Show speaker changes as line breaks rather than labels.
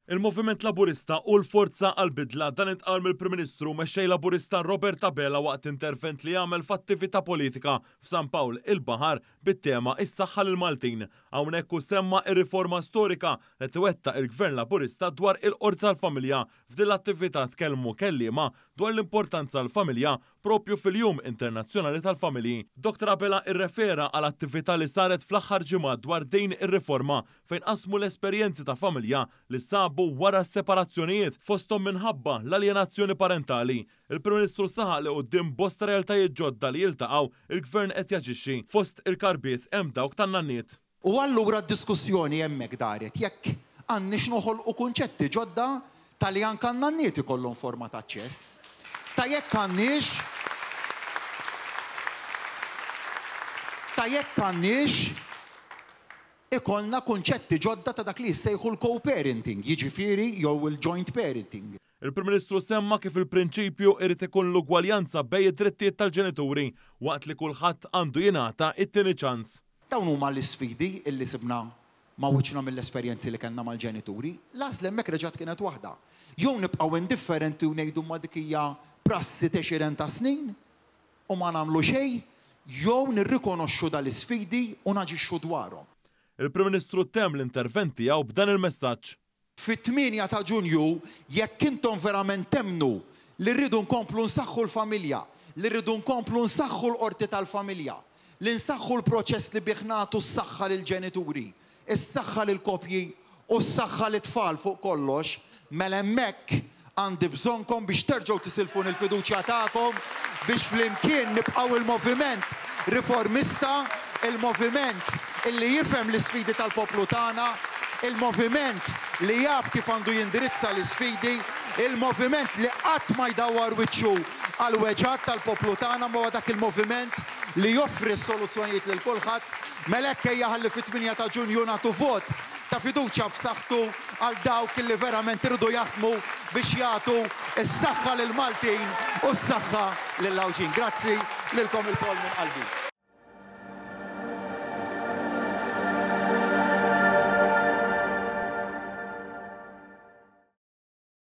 Il-Moviment Laburista hu l-forza għall-bidla, dan intqal mill-Prim Ministru u Mexxej Laburista Robert Abela waqt intervent li għamel f'attività politika f'San Pawl il-Baħar bit-tema Is-Saħħa lill-Maltin. Hawnhekk hu semma r-riforma storika li qed iwettaq il-Gvern Laburista dwar il-Qorti tal-Familja. F'din l-attività tkellmu kelliema dwar l-importanza għall-familja Propju fil-Jum Internazzjonali tal-Familji, Dottor Abela irrefera għal attività li saret fl-aħħar ġimgħat dwar din ir-riforma fejn qasmu l-esperjenzi ta' familja li sabu wara s-separazzjonijiet fosthom minħabba l-aljenazzjoni parentali. Il-Prim Ministru saħaq li quddiem bosta realtajiet ġodda li jiltaqgħu, il-Gvern qed jaġixxi. Fost il-karbiet hemm dawk tan-nanniet.
U allura d-diskussjoni hemmhekk daret jekk għandniex noħolqu kunċetti ġodda ta' li anke n-nanniet ikollhom forma ta' aċċess, ta' jekk għandniex ta' jekk għandniex ikollna kunċetti ġodda ta' dak li jissejħu l-co-parenting, jiġifieri jew il-joint parenting.
Il-Prim Ministru semma kif il-prinċipju irid ikun l-ugwaljanza bejn id-drittijiet tal-ġenituri waqt li kulħadd għandu jingħata t-tieni ċans.
Dawn huma l-isfidi illi sibna ma' wiċċna mill-esperjenzi li kellna mal-ġenituri. L-għażla hemmhekk reġgħet kienet waħda. Jew nibqgħu indifferenti u ngħidu imma dik hija prassi t'għexieren ta' snin u ma nagħmlu xejn, jew nirrikonoxxu dal-isfidi u naġixxu dwarhom.
Il-Prim Ministru temm l-intervent tiegħu b'dan il-messaġġ.
Fit-tmienja ta' Ġunju, jekk intom verament temmnu li rridu nkomplu nsaħħu l-familja, li rridu nkomplu nsaħħu l-Qorti tal-Familja, li nsaħħu l-proċess li bih nagħtu s-saħħa lill-ġenituri, is-saħħa lill-koppji u s-saħħa lit-tfal fuq kollox, mela hemmhekk Għandi bżonnkom biex terġgħu tisilfuni l-fiduċja tagħkom biex flimkien nibqgħu il-moviment riformista, il-moviment illi jifhem l-isfidi tal-poplu tagħna, il-moviment li jaf kif għandu jindirizza l-isfidi, il-moviment li qatt ma jdawwar wiċċu għall-weġgħat tal-poplu tagħna imma huwa dak il-moviment li joffri s-soluzzjonijiet lil kulħadd. Mela hekk ejja ħalli fit-tmienja ta' Ġunju nagħtu vot ta' fiduċja f'saħħtu għal dawk li verament iridu jaħdmu biex jagħtu s-saħħa lill-Maltin u s-saħħa lill-Għawdxin. Grazzi lilkom ilkoll minn qalbi.